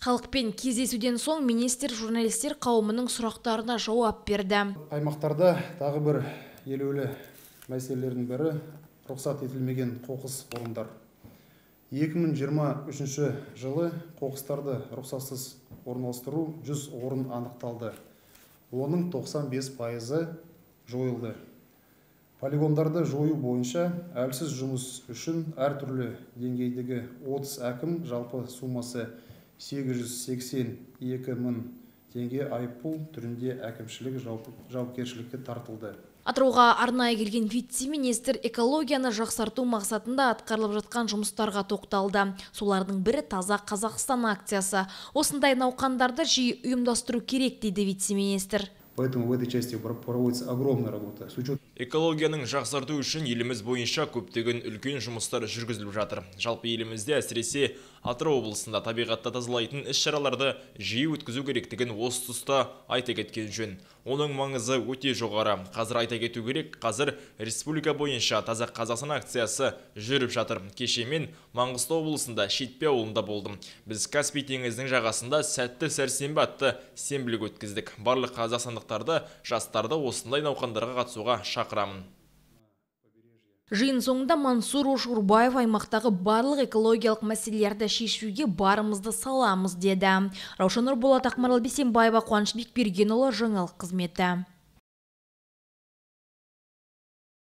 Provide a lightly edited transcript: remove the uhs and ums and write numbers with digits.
Халықпен кездесуден соң министр журналистер қауымының сұрақтарына жауап берді. Аймақтарда тағы бір елеулі мәселелердің бірі рұқсат етілмеген қоқыс орындар. 2023 жылы қоқыстарды рұқсатсыз орналастыру 100 орын анықталды. Оның 95% жойылды. Полигондарды жою бойынша әлсіз жұмыс үшін әртүрлі деңгейдегі 30 әкім жалпы суммасы 882 мың теңге айыппұл түрінде әкімшілік жауапкершілікке тартылды. Атырауға арнайы келген вице-министр экологияны жақсарту мақсатында атқарылып жатқан жұмыстарға тоқталды. Солардың бірі Таза Қазақстан акциясы. Осындай науқандарды жиі ұйымдастыру керек, дейді вице-министр. Поэтому в этой части проводится огромная работа. Экологияның жақсарту үшін еліміз бойынша көптеген үлкен жұмыстар жүргізіліп жатыр. Жалпы елімізде әсіресе Атырау облысында табиғатты тазалайтын іс-шараларды жиі өткізу керектігін осы тұста айта кеткен жөн. Оның маңызы өте жоғары. Қазір айта кету керек, қазір республика бойынша Таза Қазақстан акциясы жүріп жатыр. Кеше мен Маңғыстау облысында Шетпе ауылында болдым. Біз Каспий теңізінің жағасында сәтті сәрсенбі атты сенбілік өткіздік. Барлық қазақстандықтарды, жастарды осындай науқандарға қатысуға шақырамын. Жиын соңында Мансур Ошурбаев аймақтағы барлық экологиялық мәселелерді шешуге барымызды саламыз деді. Раушан Нұрболат, Ақмарал Бейсенбаева, Қуаныш Бекбергенұлы, жаңалық қызметі.